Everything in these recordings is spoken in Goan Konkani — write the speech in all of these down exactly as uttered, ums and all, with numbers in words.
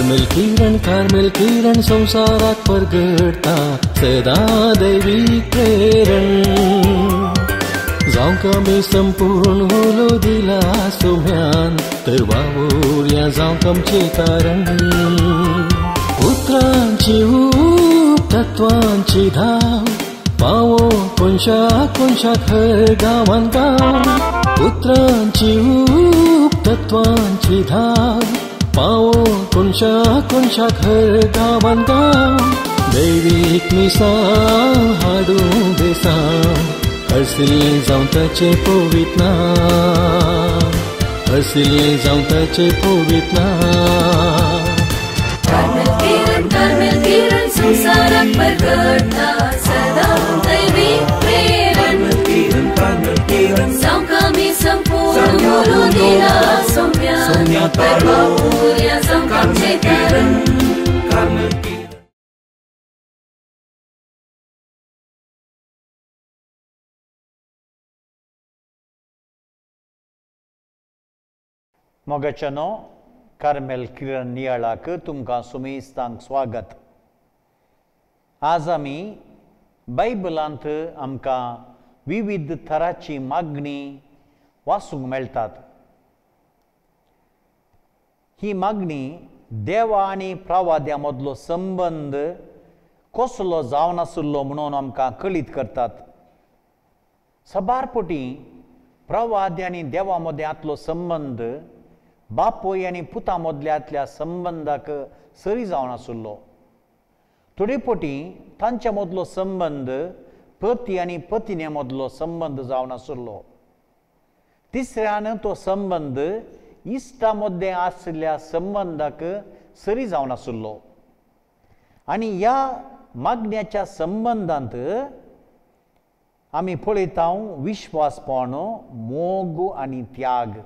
कार्मेल किरण कार्मेल किरण संवसाराक परगडटा सदां दैवीक प्रेरण जावंक आमी संपूर्ण उलो दिला सोम्यान तर वावुरया जावंक आमचें कारण उतरांची ऊब तत्वांची धाव पावो कोनशा कोनशाक हर गांवान गांव उतरांची ऊब तत्वांची धाव पावो कोनशा कोनशाक हर गांवान गांव दैवीक मिसां हाडूं बेसांव हरसिल्लें जावं ताचें पवित्र नांव हरसिल्लें जावं ताचें पवित्र नांव. कार्मेल किरण कार्मेल किरण संवसाराक परगडटा सदां दैवीक प्रेरण जावंक आमी संपूर्ण उलो दिला सोम्यान तर वावुरया जावंक आमचें कारण. मोगाच्यानो कार्मेल किरण नियाळाक तुमकां सुमेस्तांक स्वागत. आज आमी बायबलांत आमकां विविध थराची मागणी वाचूंक मेळटात. ही मागणी देवा आनी प्रवाद्या मदलो संबंद कसलो जावन आशिल्लो म्हणून आमकां कळीत करतात. साबार पटी प्रवाद्य आनी देवा मदें आतलो संबंद बापूय आनी पुता मदल्यांतल्या संबंदाक सरी जावन आशिल्लो. थोडे पटी तांच्या मदलो संबंद पती आनी पतिने मदलो संबंद जावन आशिल्लो. तिसऱ्यान तो संबंद इश्टा मदें आशिल्ल्या संबंदाक सरी जावन आशिल्लो. आनी ह्या मागण्याच्या संबंदांत आमी पळयता विश्वासपण, मोग आनी त्याग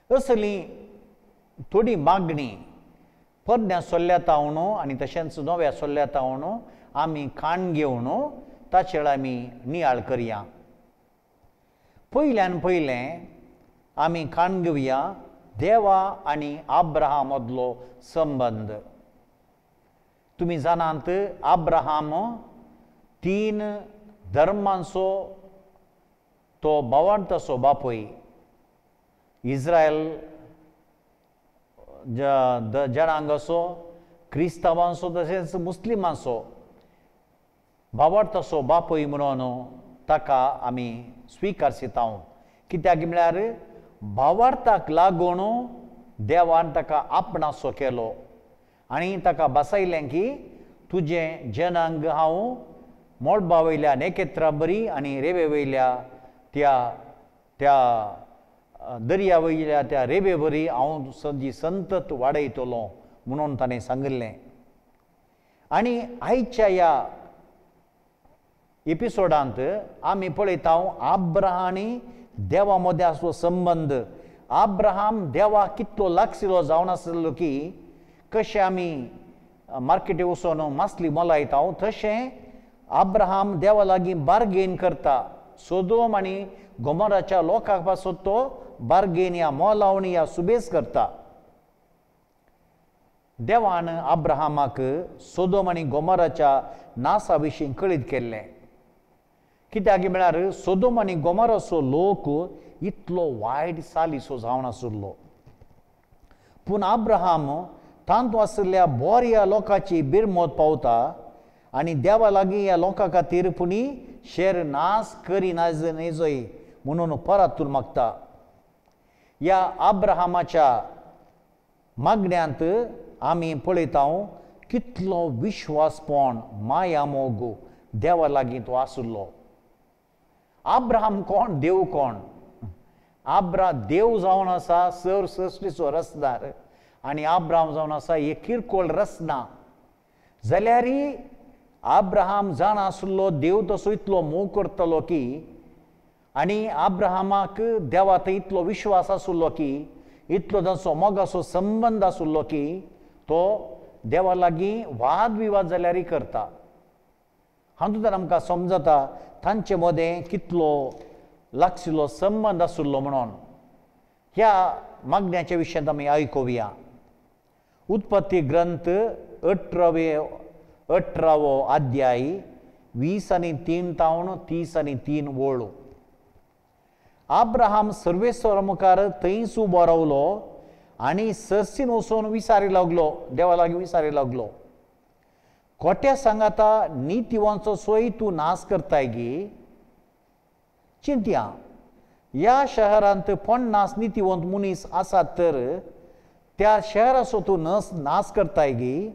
असली थोडी मागणी पोरण्या सोल्ल्या तावन आनी तशेंच नव्या सोल्ल्या तावन आमी खाण घेवन ताचेर आमी नियाळ करया. पयल्यान पयलें आमी खाण घेवया देवा आनी आब्राहाम मदलो संबंद. तुमी जाणात आब्राहाम तीन धर्मांचो तो भावार्थाचो बापूय. इस्रायल जनांगाचो, क्रिस्तांवांचो तशेंच मुस्लिमांचो भावार्थाचो बापूय म्हणून ताका आमी स्विकारता. कित्याक म्हळ्यार भावार्थाक लागून देवान ताका आपणासो केलो आनी ताका बसयलें की तुजें जनांग हांव मोडबा वयल्या नेकेत्रा बरी आनी रेवे वयल्या त्या त्या दर्या वयल्या त्या रेवे बरी हांव जी संतत वाडयतलो म्हणून ताणें सांगिल्लें. आनी आयच्या ह्या एपिसोडांत आमी पळयता आब्राहाम आनी देवा मदें आसलो संबंद. आब्राहाम देवा कितलो लागशिल्लो जावन आसलो की कशें आमी मार्केटी वचून मासली मोलायता तशें आब्राहाम देवा लागीं बार्गेन करता. सोदोम आनी गोमोराच्या लोकां पासून तो बार्गेन या मोलावणी या सुबेस करता. देवान आब्राहामाक सोदोम आनी गोमोराच्या नासा विशीं कळीत केल्लें. कित्याक म्हळ्यार सोदोम आनी गोमोराचो लोक इतलो वायट चालीचो जावन आशिल्लो. पूण आब्राहाम तातूंत आशिल्ल्या बोऱ्या लोकांची बिरमत पावता आनी देवा लागीं ह्या लोकां खातीर पुणी शेर नास करिना न्हय म्हणून परतून मागता. ह्या आब्राहामाच्या मागण्यांत आमी पळयता कितलो विश्वासपण, माया, मोग देवा लागीं तो आशिल्लो. आब्राहाम कोण, देव कोण? आब्रा देव जावन आसा सर सृश्टीचो रचदार आनी आब्राहाम जावन आसा एक किरकोळ रचना. जाल्यार आब्राहाम जाणा आशिल्लो देव तसो इतलो मोग करतलो की आनी आब्राहामाक देवा थंय इतलो विश्वास आशिल्लो की इतलो तांचो मोगाचो संबंद आशिल्लो की तो देवा लागीं वाद विवाद जाल्यारय करता. हातूंतल्यान आमकां समजता तांचे मदें कितलो लागशिल्लो संबंद आशिल्लो म्हणून. ह्या मागण्याच्या विशयांत आमी आयकुया. उत्पत्ती ग्रंथ अठरावे अठरावो अध्याय वीस आनी तीन तावन तीस आनी तीन वळो. आब्राहाम सर्वेस्वरा मुखार थंयच उबो रावलो आनी सरसीन वचून विचारी लागलो, देवा लागीं विचारी लागलो, खोट्या सांगाता नितिवांचो सोय तूं नाश करताय गी? चिंतया, ह्या शहरांत पन्नास नितिवंत मनीस आसात तर त्या शहराचो तूं नस नाश करताय गी?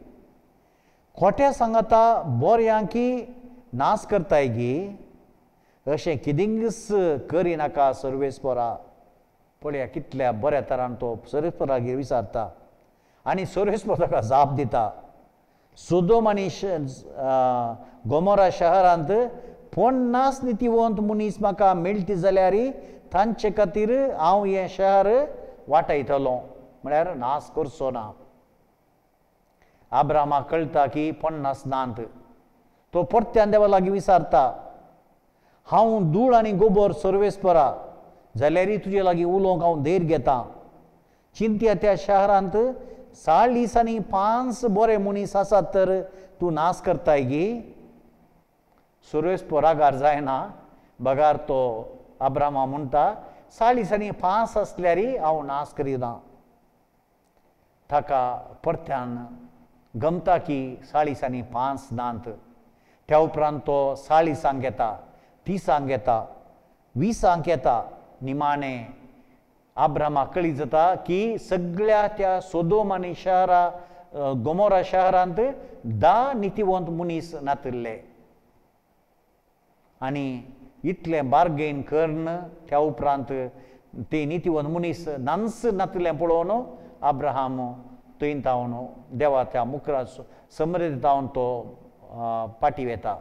खोट्या सांगाता बोऱ्यांकी नाश करताय गी? अशें कितेंच करिनाका सर्वेस्परा. पळया कितल्या बऱ्या तरान तो सर्वेस्परागेर विचारता आनी सर्वेस्पर ताका जाप दिता. सोदोम आनी गोमोरा शहरांत पन्नास नितिवंत मनीस म्हाका मेळटी जाल्यार तांचे खातीर हांव हें शहर वाटयतलो, म्हळ्यार नाश करचो ना. आब्रामाक कळटा की पन्नास नात. तो परत्यान देवा लागीं विचारता, हांव धूळ आनी गोबोर सर्वेस्परा, जाल्यारय तुजे लागीं उलोवंक हांव धैर्य घेता. चिंतया त्या शहरांत चाळीस आनी पांच बरे मनीस आसात तर तूं नाश करताय गी? सर्वेस्पर रागार जायना, बगार तो आब्रामा म्हणटा, चाळीस आनी पांच आसल्यारय हांव नाश करिना. ताका परत्यान गमता की चाळीस आनी पांच नात. त्या उपरांत तो चाळीसांक येता, तिसांक येता, विसांक येता. निमाणें आब्रामाक कळीत जाता की सगळ्या त्या सोदोम आनी शहरा गोमोरा शहरांत धा नितिवंत मनीस नातिल्ले. आनी इतलें बार्गेन करून त्या उपरांत ते नितिवंत मनीस नांच नातिल्लें पळोवन आब्राहाम थंय तावन देवा त्या मुखरा समृद्ध तावन तो पाटी वेता.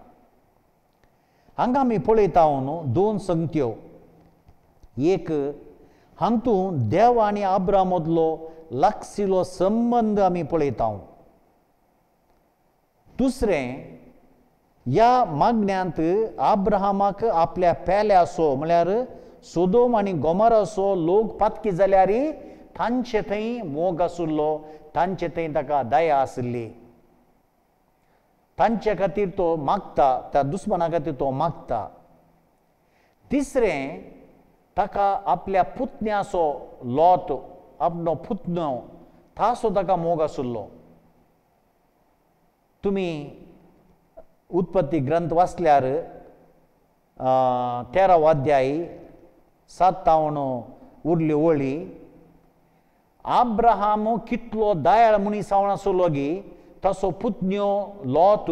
हांगा आमी पळयता न्हू दोन संगत्यो. एक, हातूंत देव आनी आब्राहाम मदलो लागशिल्लो संबंद आमी पळयता. दुसरें, ह्या मागण्यांत आब्राहामाक आपल्या पेल्याचो म्हळ्यार सोदोम आनी गोमराचो लोक पातकी जाल्यार तांचे थंय मोग आशिल्लो, तांचे थंय ताका दया आशिल्ली. तांचे खातीर तो मागता, त्या दुस्माना खातीर तो मागता. तिसरें, ताका आपल्या पुतण्याचो लोत, आपलो पुतणो ताचो ताका मोग आशिल्लो. तुमी उत्पत्ती ग्रंथ वाचल्यार तेरावो अध्याय सात तावन उरली वळी, आब्राहाम कितलो दयाळ मनीस जावन आशिल्लो गी ताचो पुतण्यो लोत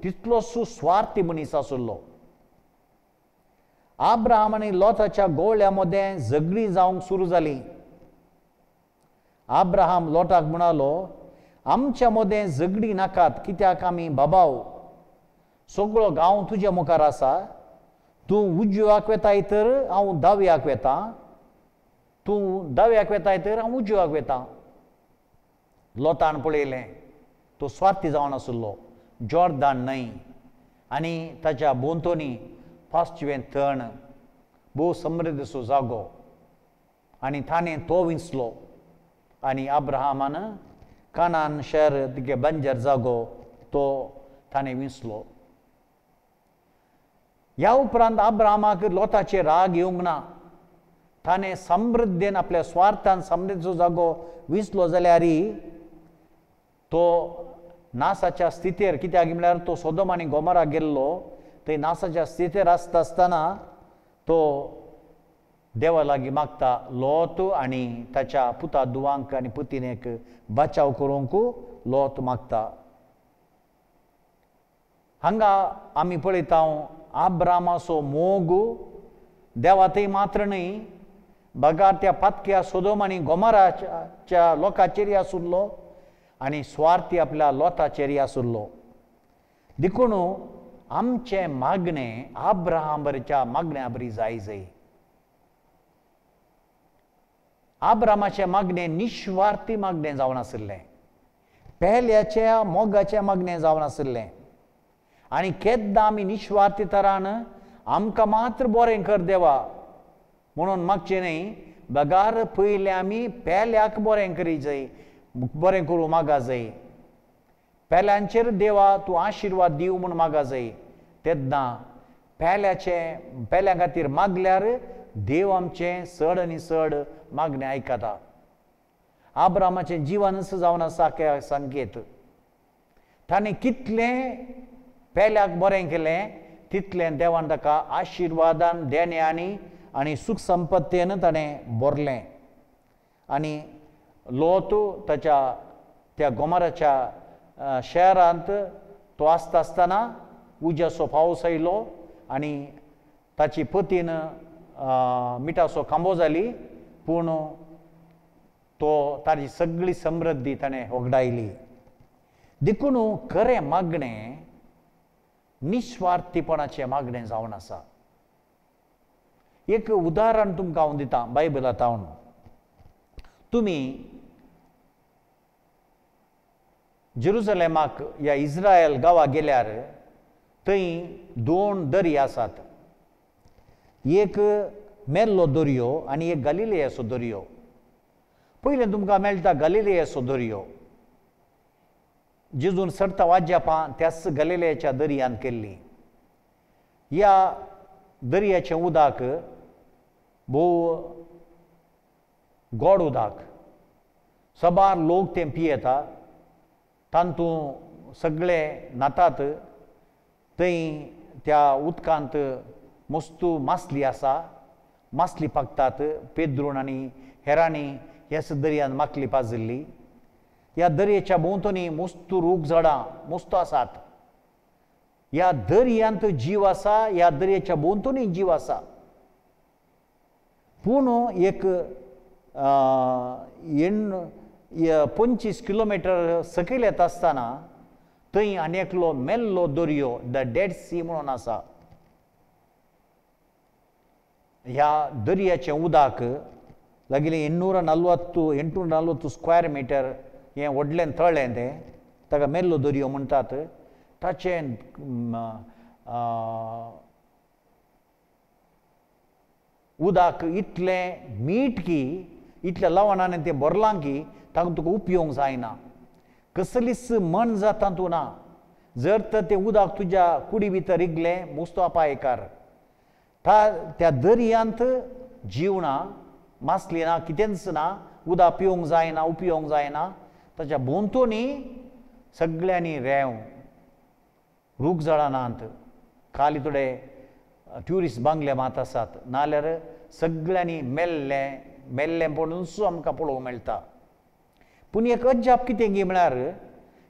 तितलोच स्वार्थी मनीस आशिल्लो. आब्राहाम आनी लोताच्या गोवळ्या मदें झगडीं जावंक सुरू जालीं. आब्राहाम लोटाक म्हणालो, आमच्या मदें झगडीं नाकात, कित्याक आमी बाबाव, सगळो गांव तुज्या मुखार आसा. तूं उजव्याक वेताय तर हांव दाव्याक वेता, तूं दाव्याक वेताय तर हांव उजव्याक वेता. लोतान पळयलें तो स्वार्थी जावन आशिल्लो, जॉर्दान न्हंय आनी ताच्या भोंवतणी पांचवें तण, भोव समृद्धसो जागो, आनी ताणें तो विंचलो. आनी आब्राहामान कानान शहर तिगे बंजर जागो तो ताणें विंचलो. ह्या उपरांत आब्राहामाक लोताचेर राग येवंक ना. ताणें समृद्धेन आपल्या स्वार्थान समृद्धीचो जागो विंचलो जाल्यार तो नासाच्या स्थितीर, कित्याक म्हळ्यार तो सोदोम आनी गोमोरा गेल्लो, थंय नासाच्या स्थितीर आसता आसतना तो देवा लागीं मागता लोत आनी ताच्या पुता दुवांक आनी पुतिनेक बचाव करूंक लोत मागता. हांगा आमी पळयता आब्रामाचो मोग देवा थंय मात्र न्हय, बगार त्या पातक्या सोदोम आनी गोमोराच्या लोकांचेर आशिल्लो आनी स्वार्थी आपल्या लोताचेर आशिल्लो. देखून आमचें मागणें आब्राहाम बरीच्या मागण्या बरी जाय जाय. आब्रामाचें मागणें निस्वार्थी मागणें जावन आशिल्लें, पेल्याच्या मोगाचें मागणें जावन आशिल्लें. आनी केन्ना आमी निस्वार्थी तरान आमकां मात्र बरें कर देवा म्हणून मागचें न्हय, बगार पयलें आमी पेल्याक बरें करी जाय बरें करूं मागा जाय, पेल्यांचेर देवा तूं आशिर्वाद दिव म्हूण मागा जाय। तेन्ना पेल्याचें पेल्यां खातीर मागल्यार देव आमचें चड आनी चड मागणें आयकता। आब्रामाचें जिवनच जावन आसा संकेत। ताणें कितलें पेल्याक बरें केलें तितलें देवान ताका आशिर्वादान देण्यांनी आनी सुख संपत्तेन ताणें भरलें। आनी लोत ताच्या त्या गोमराच्या शहरांत तो आसता आसतना उज्याचो पावस आयलो आनी ताची पतीन मिठाचो खांबो जाली, पूण तो ताची सगळी समृद्धी ताणें होगडायली। देखून खरें मागणें निस्वार्थीपणाचें मागणें जावन आसा। एक उदाहरण तुमकां हांव दितां बायबलांत। तुमी जेरुजलेमाक या इस्रायल गांवा गेल्यार थंय दोन दर्या आसात, एक मेल्लो दर्यो आनी एक गालिलेयाचो दर्यो। पयलें तुमकां मेळटा गालिलेयाचो दर्यो, जेजून सरता वाज्यापां त्याच गालिलेयाच्या दर्यांत केल्ली। ह्या दर्याचें उदक भोव गोड उदक, सबार लोक तें पियेता, तातूंत सगळे न्हातात। थंय त्या उदकांत मस्तू मासली आसा, मासली पाकतात। पेद्रून आनी हेरांनी ह्याच दर्यांत माकली पाजिल्ली। ह्या दर्याच्या भोंवतणी मस्तू रूख झाडां मस्त आसात। ह्या दर्यांत जीव आसा, ह्या दर्याच्या भोंवतणी जीव आसा। पूण एक पंचवीस किलोमिटर सकयल येता आसतना थंय आनी एकलो मेल्लो दर्यो, the dead सी म्हणून आसा। ह्या दर्याचें उदक लागिल्लें एण्णूर नलवत्तू एंटूर नलवत्तू स्क्वेअर मिटर हें व्हडलें तळें तें, ताका मेल्लो दर्यो म्हणटात। ताचें उदक इतलें मीठ की इतल्या लवणान तें भरलां की ताका तुका उपयोग जायना, कसलीच मन जाता तूं ना। जर तर तें उदक तुज्या कुडी भितर रिगलें मुस्तो अपायकार। त्या दर्यांत जीव ना, मासली ना, कितेंच ना, उदक पिवंक जायना, उपयोग जायना। ताच्या भोंवतणी सगळ्यांनी रेंव, रूख झाडां नात, खाली थोडे ट्युरिस्ट बांगले मात आसात, नाल्यार सगळ्यांनी मेल्लें मेल्लें पळोवनूच आमकां पळोवंक मेळटा। पूण एक अजाप कितें गी म्हळ्यार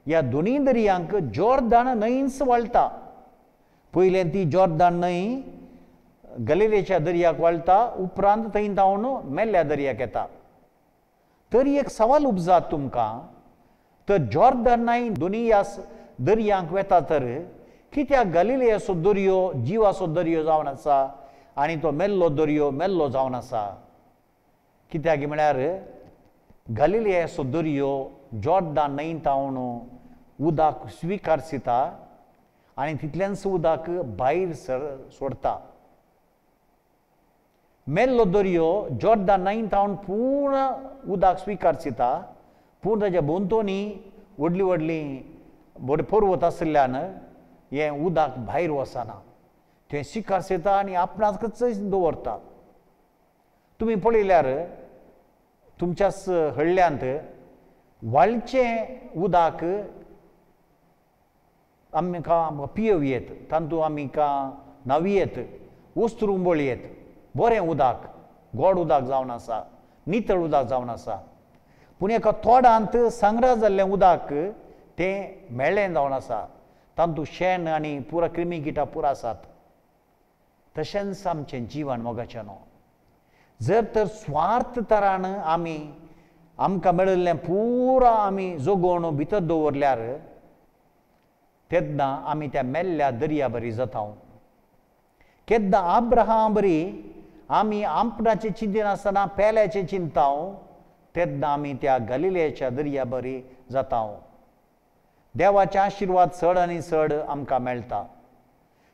ह्या दोनूय दर्यांक जॉर्दान न्हंयच व्हाळटा। पयलें ती जॉर्दान न्हंय गलिलेच्या दर्याक व्हाळटा, उपरांत थंय धांवन मेल्ल्या दर्याक येता। तरी एक सवाल उपजात तुमकां, तर जॉर्दान न्हंय दोनूय ह्या दर्यांक वेता तर कित्याक गलिलेयाचो दर्यो जिवाचो दर्यो जावन आसा आनी तो मेल्लो दर्यो मेल्लो जावन आसा? कित्याक म्हळ्यार गलिलेयाचो दर्यो जॉर्दान न्हंय तावन उदक स्विकारसिता आनी तितलेंच उदक भायर सर सोडटा। मेल्लो दर्यो जॉर्दान न्हंय तावन पूर्ण उदक स्विकारसिता, पूण ताच्या भोंवतणी व्हडलीं व्हडलीं व्हड पर्वत आशिल्ल्यान हें उदक भायर वचना, तें स्विकारसिता आनी आपणाकच दवरता। तुमी पळयल्यार तुमच्याच हळ्ळ्यांत व्हाळचें उदक आमकां पियोव येत, तातूंत आमकां न्हांव येत, वस्त्र उंबळ येत, बरें उदक, गोड उदक जावन आसा, नितळ उदक जावन आसा। पूण एका तोडांत संग्रह जाल्लें उदक तें मेळ्ळें जावन आसा, तातूंत शेण आनी पुरा क्रिमी किटां पुरा आसात। तशेंच आमचें जिवन मोगाचें न्हू, जर तर स्वार्थ तरान आमी आमकां मेळिल्लें पुरा आमी जोगोवन भितर दवरल्यार तेन्ना आमी त्या मेल्ल्या दर्या बरी जाता। केन्ना आब्राहाम बरी आमी आपणाचें चिंतिनासतना पेल्याचें चिंताव, तेन्ना आमी त्या गलिलेच्या दर्या बरी जाता। देवाचे आशिर्वाद चड आनी चड आमकां मेळटा।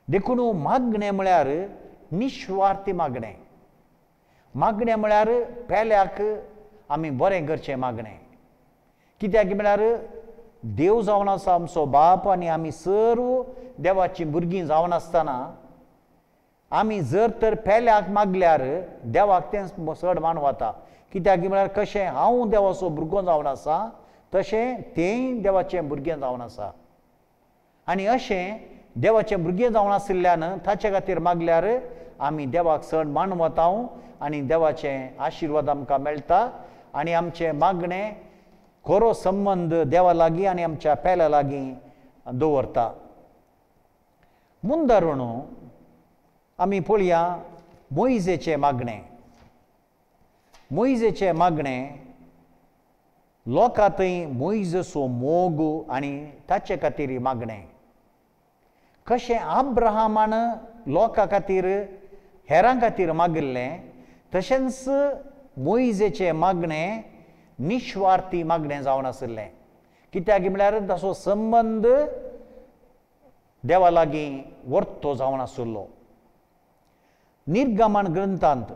देखून मागणें म्हळ्यार निस्वार्थी मागणें, मागणें म्हळ्यार पेल्याक आमी बरें करचें मागणें। कित्याक म्हळ्यार देव जावन आसा आमचो बाप आनी आमी सर्व देवाचीं भुरगीं जावन आसतना आमी जर तर पेल्याक मागल्यार देवाक तें चड मानवता. कित्याक म्हळ्यार कशें हांव देवाचो भुरगो जावन आसा तशें तेंय देवाचें भुरगें जावन आसा आनी अशें देवाचें भुरगें जावन आशिल्ल्यान ताचे खातीर मागल्यार आमी देवाक चड मानवता आनी देवाचें आशिर्वाद आमकां मेळटा आनी आमचें मागणें खरो संबंद देवा लागीं आनी आमच्या पेल्या लागीं दवरता. मुंदारण आमी पळया मोयजेचें मागणें. मोयजेचें मागणें लोकां थंय मोयजेचो मोग आनी ताचे खातीर मागणें. कशें अब्राहमान लोकां खातीर हेरां खातीर मागिल्लें तशेंच मोयजेचें मागणें निस्वार्थी मागणें जावन आशिल्लें. कित्याक म्हळ्यार ताचो संबंद देवा लागीं वर्तो जावन आशिल्लो. निर्गमन ग्रंथांत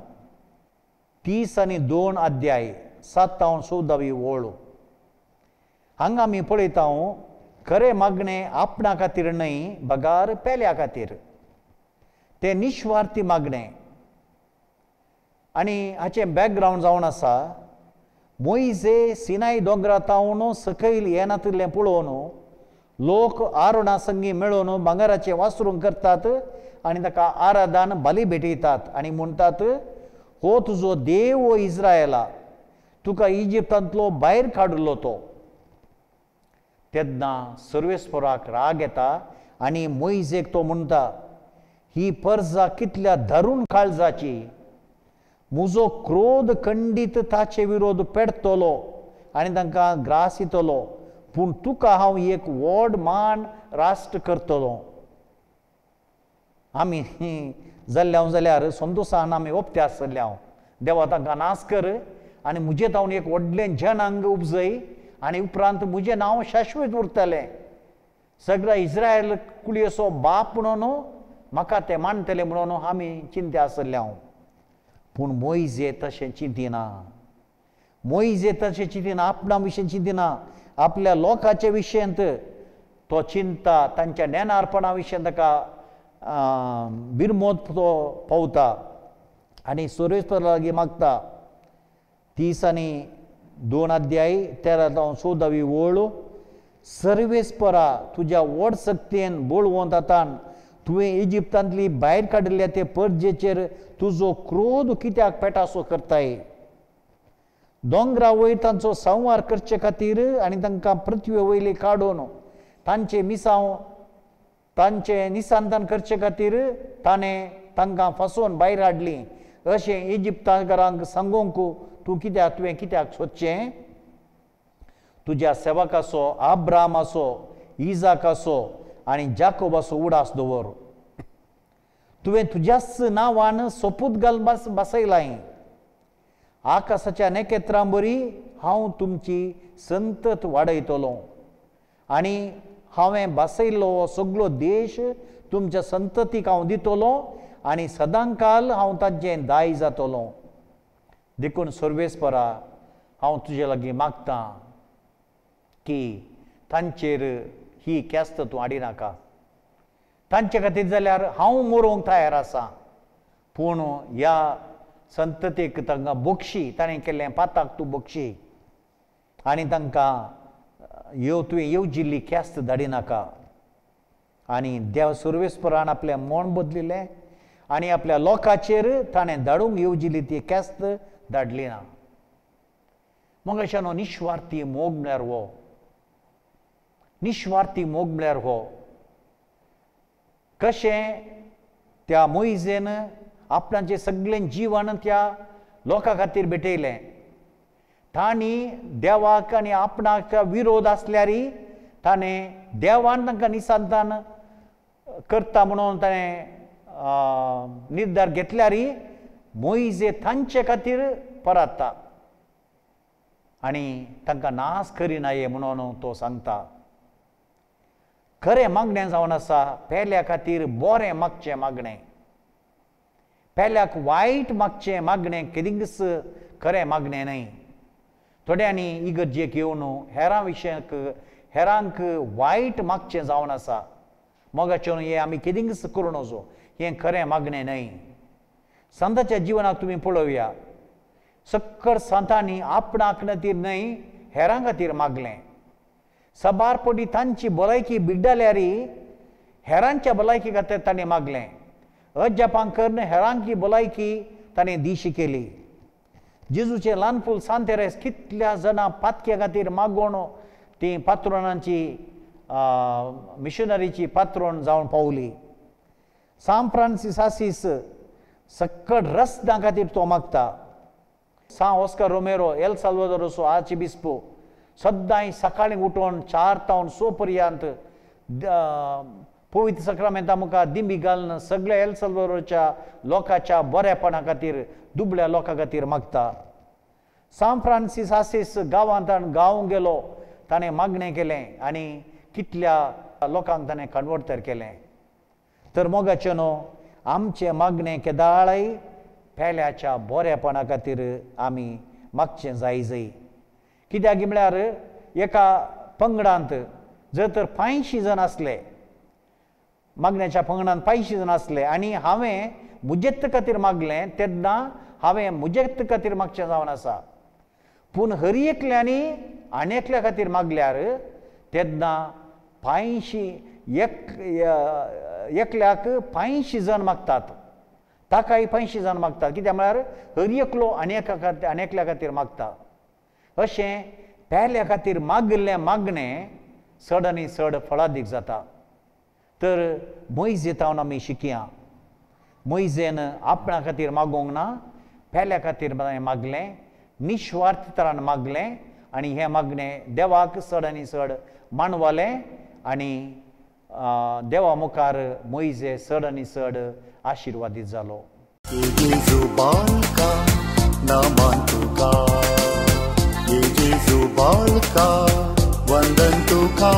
तीस आनी दोन अध्याय सात चवदावी ओळ हांगा आमी पळयता खरें मागणें आपणा खातीर न्हय बगार पेल्या खातीर, तें निस्वार्थी मागणें. आनी हाचें बॅकग्रावंड जावन आसा मोयजे सिनाय दोंगरा तावन सकयल येनातिल्लें पळोवन लोक आरोणा संगी मेळोवन भांगराचें वासरूंक करतात आनी ताका आराधान बली भेटयतात आनी म्हणटात हो तुजो देव ओ इस्रायला, तुका इजिप्तांतलो भायर काडिल्लो तो. तेन्ना सर्वेस्पराक राग येता आनी मोयजेक तो म्हणटा ही परजा कितल्या धरून काळजाची, म्हजो क्रोध खंडीत ताचे विरोध पेडतलो आनी तांकां ग्रास दितलो, पूण तुका हांव एक व्हड मान राष्ट्र करतलो. आमी जाल्ले हांव जाल्यार संतोशान आमी ओपते आसतले हांव देवा तांकां नाश कर आनी म्हजें तावन एक व्हडलें जनांग उपजय आनी उपरांत म्हजें नांव शाश्वत उरतलें, सगळ्या इस्रायल कुळयेचो बाप म्हणून म्हाका ते मानतले म्हणून आमी चिंते आसतले हांव. पूण मोयजे तशें चिंतिना, मोयजे तशें चिंतिना, आपणा विशीं चिंतिना, आपल्या लोकांच्या विशयांत तो चिंता, तांच्या नेणारपणा विशयांत ताका बिरमोद तो पावता आनी सर्वेस्परा लागीं मागता. तीस आनी दोन अध्याय तेरा जावन चवदावी ओळ सर्वेस्परा तुज्या व्हड शक्तीन बळवंत हातान तुवें इजिप्तांतली भायर काडिल्ल्या ते परजेचेर तुजो क्रोध कित्याक पेटासो करताय? दोंगरा वयर तांचो संवार करचे खातीर आनी तांकां पृथ्वे वयली काडून तांचे मिसांव तांचें निसंतान करचे खातीर ताणें तांकां फसोवन भायर हाडली. अशें इजिप्तांकारांक सांगूंक तूं कित्याक तुवें कित्याक सोदचें? तुज्या सेवकाचो आब्रामाचो इजाकाचो आनी जाकोबाचो उडास दवर. तुवें तुज्याच नांवान सोपूत घाल बस बसयलाय. आकाशाच्या नखेत्रां बरी हांव तुमची संतत वाडयतलो आनी हांवें बसयल्लो हो सगळो देश तुमच्या संततीक हांव दितलो आनी सदांकाल हांव तांचें दाय जातलो. देखून सर्वेस्परा हांव तुजे लागीं मागतां की तांचेर ही ख्यास्त तूं हाडिनाका. तांचे खातीर जाल्यार हांव मरोंक तयार आसा, पूण ह्या संततीक तांकां बक्षी, ताणें केल्लें पाताक तूं बक्षी आनी तांकां येव तुवें येवजिल्ली ख्यास्त धाडिनाका. आनी देव सर्वेस्परान आपलें मन बदलिल्लें आनी आपल्या लोकांचेर ताणें धाडूंक येवजिल्ली ती ख्यास्त धाडली ना. मग अशें न्हू निस्वार्थी मोग म्हळ्यार हो, निस्वार्थी मोग म्हळ्यार हो. कशें त्या मोयजेन आपणाचें सगळें जिवन त्या लोकां खातीर भेटयलें. तांणी देवाक आनी आपणाक विरोध आसल्यारय ताणें देवान तांकां निसंतान करता म्हणून ताणें निर्धार घेतल्यारय मोयजे तांचे खातीर परतता आनी तांकां नाश करिनाये म्हणून तो सांगता. खरें मागणें जावन आसा पेल्या खातीर बरें मागचें मागणें, पेल्याक वायट मागचें मागणें केदींच खरें मागणें न्हय. थोड्यांनी इगर्जेक येवन हेरां विशयक हेरांक वायट मागचें जावन आसा. मोगाचें हें आमी कितेंच करूं नजो, हें खरें मागणें न्हय. सांताच्या जिवनाक तुमी पळोवया, सक्कड सांतांनी आपणाक खातीर न्हय हेरां खातीर मागलें. साबार पटी तांची भलायकी बिगडल्यार हेरांच्या भलायकी खातीर ताणें मागलें. अजापां करून हेरांची भलायकी ताणें दिशी केली. जेजूचें ल्हान फूल सांत तेरेस कितल्या जाणां पातक्या खातीर मागोवन ती पात्रोणांची मिशनरीची पात्रोण जावन पावली. सांत फ्रांसीस आसीस सक्कड रस्त्यां खातीर तो मागता. सांत ऑस्कर रोमेरो एल साल्वादोराचो आर्चबिस्पो सद्दांय सकाळीं उठोवन चार तावन स पर्यंत पवित्र सक्रामेंता मुखार दिंबी घालून सगळ्या एल साल्वादोराच्या लोकांच्या बरेपणा खातीर दुबळ्या लोकां खातीर मागता. सांत फ्रांसीस आसीस गांवांत गांव गेलो, ताणें मागणें केलें आनी कितल्या लोकांक ताणें कन्वर्ट तर केलें. तर मोगाचें न्हू आमचें मागणें केदाळय पेल्याच्या बरेपणा खातीर आमी मागचें जाय जाय. कित्याक म्हळ्यार एका पंगडांत जर तर पांयशीं जाण आसले, मागण्याच्या पंगडांत पांयशीं जाण आसले आनी हांवें म्हजेच खातीर मागलें तेन्ना हांवें म्हजेच खातीर मागचें जावन आसा. पूण हर एकल्यांनी आनी एकल्या खातीर मागल्यार तेन्ना पांयशीं एक एकल्याक पांयशीं जाण मागतात, ताकाय पांयशीं जाण मागतात. कित्याक म्हळ्यार हर एकलो आनी एका खातीर आनी एकल्या खातीर मागता. अशें पेल्या खातीर मागिल्लें मागणें चड आनी चड फळादीक जाता. तर मोयजे तावन आमी शिकया. मोयजेन आपणा खातीर मागूंक ना, पेल्या खातीर मागलें, निस्वार्थ तरान मागलें आनी हें मागणें देवाक चड आनी चड मानवलें आनी देवा मुखार मोयजे चड आनी चड आशिर्वादीत जालो. वंदन तुका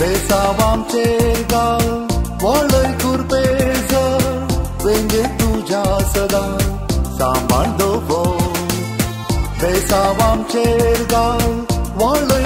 बेसावामचेर गाल वळय कुरपेज वेंगे तुज्या सदां सांबाळ दवर. बेसावामचेर गाल वळय